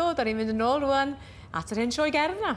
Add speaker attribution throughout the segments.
Speaker 1: gwrando. Da ni'n mynd yn ôl rwan at yr hen sioe gerdd 'na.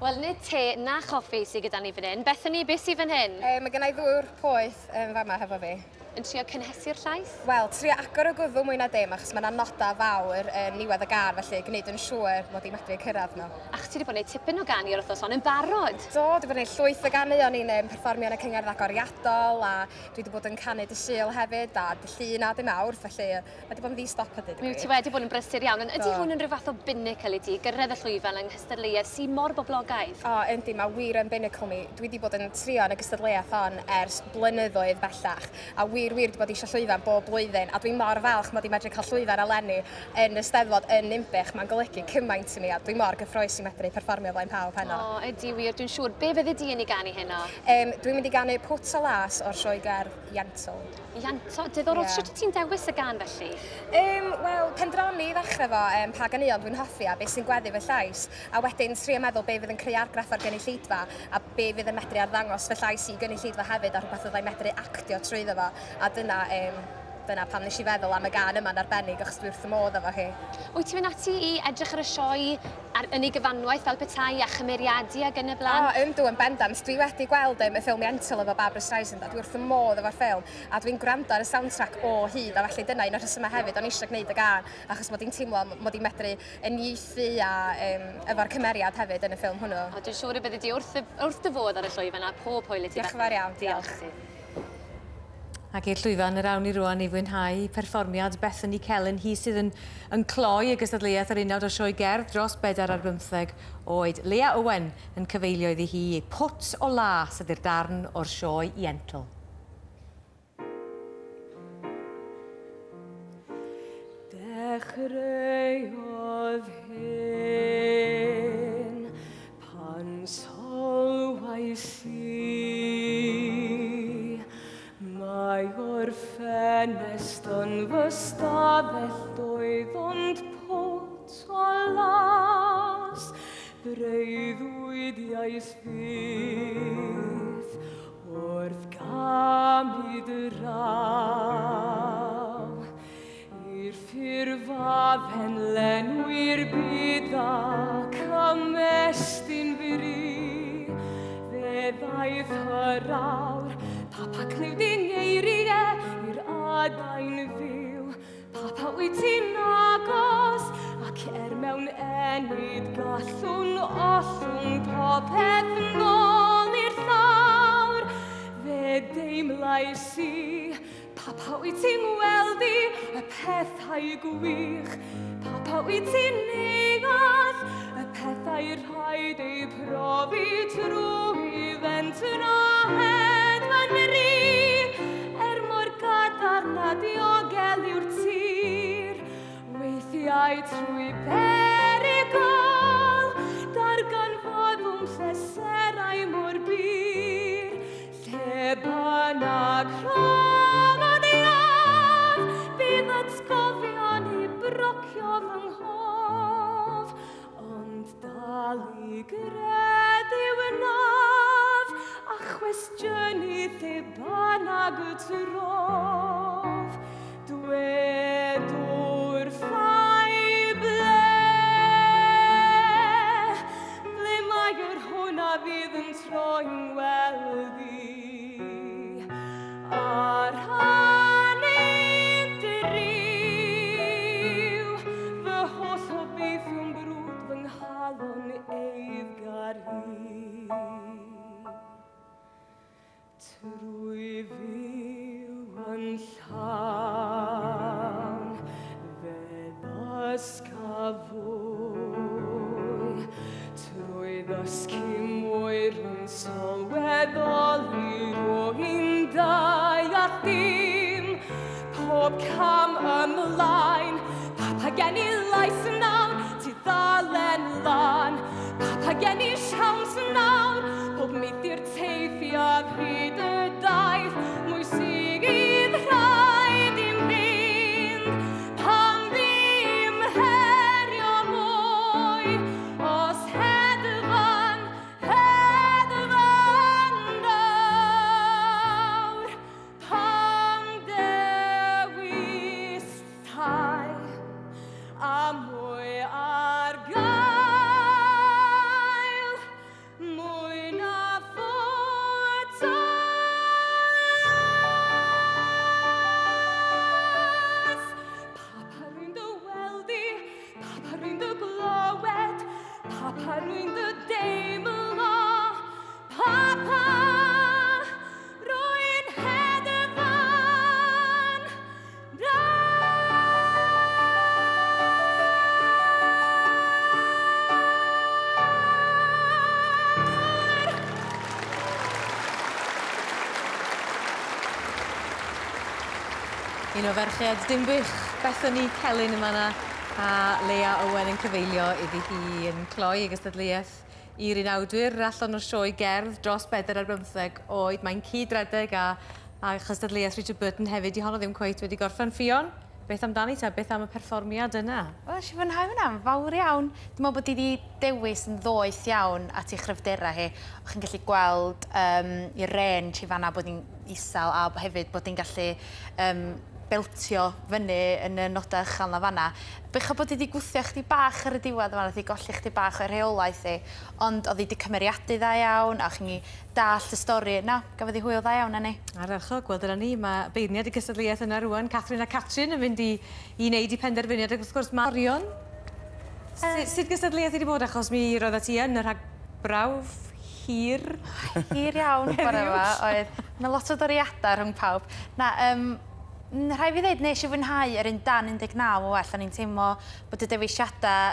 Speaker 2: Wel, nid te na choffi sydd gyda ni fan hyn. Bethany, beth sydd fan hyn?
Speaker 3: Mae gennau ddŵr poeth yn fama hefo fi.
Speaker 2: Yn trio cynhesu'r llais?
Speaker 3: Wel, trio agor y gwddw mwy na dim, achos mae yna nodau fawr yn niwedd y gân, felly gwneud yn siŵr mod i'n medru cyrraedd nhw.
Speaker 2: Achos ti wedi bod yn gwneud tipyn o ganu yr wythnos hon yn barod?
Speaker 3: Do, dwi wedi bod yn gwneud llwyth o ganu. O'n i'n perfformio yn y cyngerdd agoriadol, a dwi wedi bod yn canu dydd Sul hefyd, a dydd Llun a dydd Mawrth, felly mae wedi bod yn ddi-stop a dweud y
Speaker 2: gwir. Mi wyt ti wedi bod yn brysur iawn, ond ydy hwn yn rhyw fath o binnacle i ti, gyrraedd y llwyfan yng nghystadleuaeth sydd mor boblogaidd?
Speaker 3: O, yndi, mae wir yn binnacle mi. Dwi wedi bod yn trio yn y gystadleuaeth hon ers blynyddoedd bellach, a wir wedi bod eisiau llwyfan bob blwyddyn, a dwi'n mor falch mod i'n medru cael llwyfan eleni yn y Steddfod yn Ninbych. Mae'n golygu cymaint i mi, a dwi'n mor gyffrous i medru perfformio flaen pawb heno.
Speaker 2: O, ydy wir, dwi'n siŵr. Be fyddi di yn ei ganu heno?
Speaker 3: Dwi'n mynd i ganu Pwt o Las o'r sioe gerdd Ianto.
Speaker 2: Ianto? Diddorol. Yeah. Sut wyt ti'n dewis y gân felly?
Speaker 3: Wel, pendroni i ddechrau fo, pa ganeuon dwi'n hoffi a beth sy'n gweddu fy llais, a wedyn trio meddwl be fydd yn creu argraff ar gynulleidfa a be fydd yn medru arddangos fy llais i gynulleidfa hefyd, a rhywbeth fyddai'n medru actio trwyddo fo. A dyna pam nes i feddwl am y gân yma'n arbennig, achos dwi wrth y modd efo hi.
Speaker 2: Wyt ti'n mynd ati i edrych ar y sioe yn ei gyfanwaith fel petai a chymeriadu ag yn y blaen?
Speaker 3: O, yndw, yn bendant. Dwi wedi gweld y ffilm Yentl efo Barbra Streisand, a dwi wrth y modd efo'r ffilm, a dwi'n gwrando ar y soundtrack o hyd, a felly dyna un o'r rhesymau hefyd o'n eisiau gwneud y gân, achos mod i'n teimlo mod i'n medru uniaethu a efo'r cymeriad hefyd yn y ffilm hwnnw.
Speaker 2: O, dwi'n siŵr y byddi di wrth dy fodd ar y llwyfan, a pob hwyl i ti.
Speaker 3: Diolch yn fawr iawn.
Speaker 2: Diolch.
Speaker 1: Ac i'r llwyfan yr awn ni rwan i fwynhau perfformiad Bethany Celyn, hi sydd yn cloi y gystadleuaeth ar unawd o sioe gerdd dros 4 ar 15 oed. Leah Owen yn cyfeilio iddi hi. Pwt o Las ydy'r darn o'r sioe Ientl.
Speaker 4: Dechreuodd hyn pan sylwais i mai o'r ffenest yn fy stafell doedd ond pwt o las. Breuddwydiais fyth wrth gamu draw i'r ffurfafen lenwi'r byd ac ymestyn fri. Fe ddaeth yr awr, Papa, clyw di ngeiriau i'r adain fyw. Papa, wyt ti'n agos, ac er mewn ennyd gallwn ollwng popeth nôl i'r llawr. Fe deimlais i, Papa, wyt ti'n weld i y pethau gwych. Papa, wyt ti'n deall y pethau rhaid eu profi trwy fentro hedfan fri. Er mor gadarn a diogel yw'r tir, weithiau trwy berygl, darganfod pleserau mor bur. Lle bynnag rhofodiaf, bydd atgofion i brocio fy nghof, ond dal i gredu wnaf, a chwestiynu lle bynnag y trof. Dwed wrtha i ble, ble mae yr hwn a fydd yn troi'n weld i, a rhannu dryw fy holl obeithion brwd fy nghalon eiddgar i. Trwy fyw yn llawn, fe ddysgaf fwy. Trwy ddysgu mwy rwy'n sylweddoli rwy'n deall dim. Pob cam ymlaen, Papa, gen i lais nawr, tudalen lan. Papa, gen i siawns nawr, pob milltir teithiaf hyd y daith, mwy sydd rhaid i'm mynd. Pam ddim herio mwy, os hedfan, hedfan nawr. Pam dewis llai, a mwy Papa, rwy'n dy deimlo. Papa, rwy'n hedfan. Nawr!
Speaker 1: Un o ferched Dinbych, Bethany Celyn yma na, a Leah Owen yn cyfeilio iddi hi yn cloi y gystadleuaeth i'r unawdwyr allan o'r sioe gerdd dros 4 ar 15 oed. Mae'n cydredeg a chystadleuaeth Richard Burton hefyd. Di honno ddim cweit wedi gorffen. Ffion, beth amdani ta? Beth am y perfformiad yna?
Speaker 5: Wel, nes i fwynhau hwnna'n fawr iawn. Dwi'n meddwl bod hi wedi dewis yn ddoeth iawn at ei chryfderau hi. O'ch chi'n gallu gweld i range i fanna bod hi'n isel a hefyd bod hi'n gallu beltio fyny yn y nodau uchel na fanna. Bechod bod hi wedi gwthio chdi bach ar y diwedd yma, nath hi golli chdi bach o'i rheolaeth hi, ond oedd hi wedi cymeriadu dda iawn, a chi'n dallt y stori. Na, gafodd hi hwyl dda iawn, ni.
Speaker 1: Ardderchog, wel dyna ni, mae beirniad y gystadleuaeth yna rŵan, Catherine a Catrin yn mynd i wneud i penderfyniad, ac wrth gwrs mae Orion. Sut gystadleuaeth wedi bod, achos mi roeddet ti yn y rhagbrawf hir?
Speaker 5: Hir iawn, bore yma, oedd. Mae lot o doriadau rhwng pawb. Na, rhaid fi ddweud, nes i fwynhau yr un dan 19 o well, o'n i'n teimlo bod y dewisiadau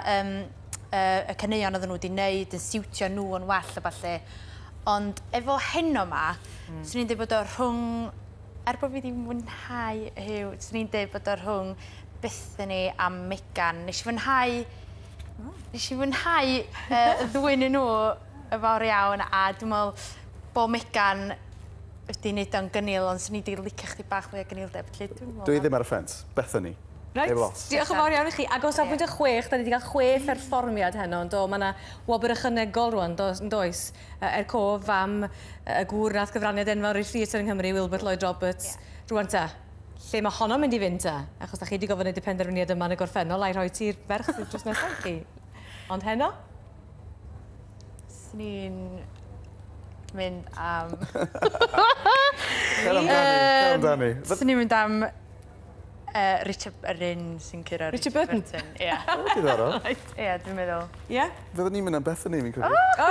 Speaker 5: y caneuon oedden nhw wedi wneud yn siwtio nhw yn well a ballu. Ond efo heno yma, swn i'n dweud bod o rhwng, er bod fi wedi mwynhau Huw, swn i'n dweud bod o rhwng Bethany a Megan. Nes i fwynhau y ddwyn nhw yn fawr iawn, a dwi'n meddwl bod Megan wedi wneud o'n gynnil, ond swn i wedi licio chdi bach fwy o gynildeb.
Speaker 6: Dwi ddim ar y ffens. Bethany.
Speaker 1: Reit, diolch yn fawr iawn i chi. Ac o safbwynt y 6, da ni wedi cael 6 perfformiad heno, do, mae yna wobr ychwanegol rwan, does, er cof am y gŵr nath gyfraniad enfawr i'r theatr yng Nghymru, Wilbert Lloyd Roberts. Rwan ta, lle mae honno'n mynd i fynd ta? Achos da chi wedi gofyn wneud y penderfyniad yma yn y gorffennol, a'i rhoi ti'r ferch sydd drws nesaf i chi. Ond heno?
Speaker 5: Swn i'n mynd am...
Speaker 6: Cer amdani.
Speaker 5: Swn i'n mynd am Richard, yr un sy'n curo
Speaker 1: Richard Burton.
Speaker 5: Ie.
Speaker 6: O, diddorol.
Speaker 5: Ie, dwi'n meddwl.
Speaker 1: Ie?
Speaker 6: Fyddwn ni'n mynd am Bethany, fi'n credu.
Speaker 1: O,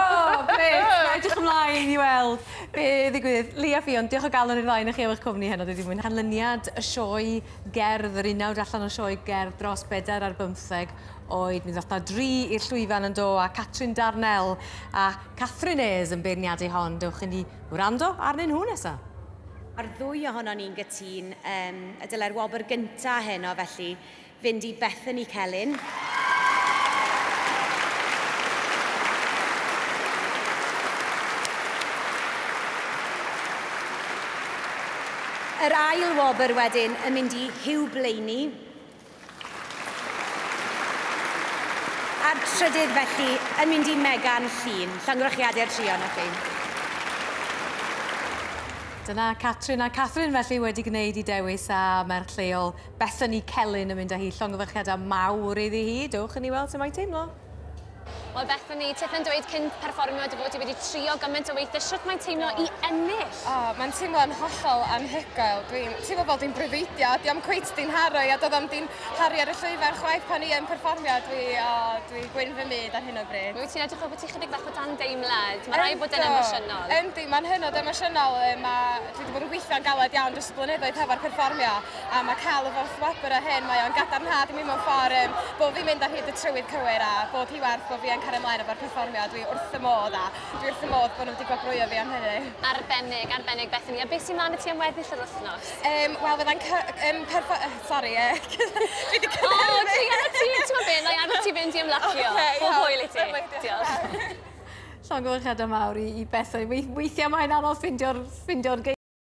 Speaker 1: grêt! Na, edrych ymlaen i weld be ddigwydd. Lia, Ffion, diolch o galon i'r ddau ohonoch chi am eich cwmni heno. Dwi wedi mwynhau canlyniad y sioe gerdd, yr unawd allan o sioe gerdd dros 4 ar 15 oed. Mi ddoth 'na dri i'r llwyfan yn do, a Catrin Darnell a Catherine Ayres yn beirniadu hon. Dewch i ni wrando arnyn nhw nesaf.
Speaker 7: Mae'r ddwy ohonon ni'n gytûn y dylai'r wobr gyntaf heno felly fynd i Bethany Celyn. Yr ail wobr wedyn yn mynd i Huw Blainey. A'r trydydd felly yn mynd i Megan Llŷn. Llongyfarchiadau'r tri ohonoch chi.
Speaker 1: Dyna Catrin a Catherine felly wedi gwneud i dewis a merch lleol Bethany Celyn yn mynd â hi. Llongyfarchiadau mawr iddi hi. Dewch i ni weld sut mae'n teimlo.
Speaker 2: Wel, Bethany, ti yn dweud cyn perfformio dy fod ti wedi trio gymaint o weithiau. Sut mae'n teimlo i ennill?
Speaker 3: O, mae'n teimlo'n hollol anhygoel. Dwi'n teimlo fel dwi'n breuddwydio. Di o'm cweit di'n haro i, a doedd o'm di'n haru ar y llwyfan chwaith pan i yn perfformio. Dwi gwyn fy myd ar hyn o bryd.
Speaker 2: Wyt ti'n edrych fel bod ti chydig bach o dan deimlad? Mae rhaid bod yn emosiynol.
Speaker 3: Yndi, mae'n hynod emosiynol. Dwi wedi bod yn gweithio'n galed iawn dros y blynyddoedd hefo'r perfformio, a mae cael y fath wobr o hyn, mae o'n gadarnhad i mi mewn ffordd bod fi'n mynd ar hyd y trywydd cywir a bod hi werth bod fi yn cario ymlaen efo'r perfformio. Dwi wrth y modd, a dwi wrth y modd bod nhw wedi gwobrwyo fi am hynny.
Speaker 2: Arbennig, arbennig, Bethany. A beth sy'n mlaen i ti am weddill yr wythnos?
Speaker 3: Wel, fydda'n sorry, dwi wedi
Speaker 2: O, ti, ti'n gwybod be, na i adael ti fynd i ymlacio. Pob hwyl i ti. Diolch.
Speaker 1: Llongyfarchiadau mawr i Bethany. Weithiau mae'n anodd ffeindio'r geiriau.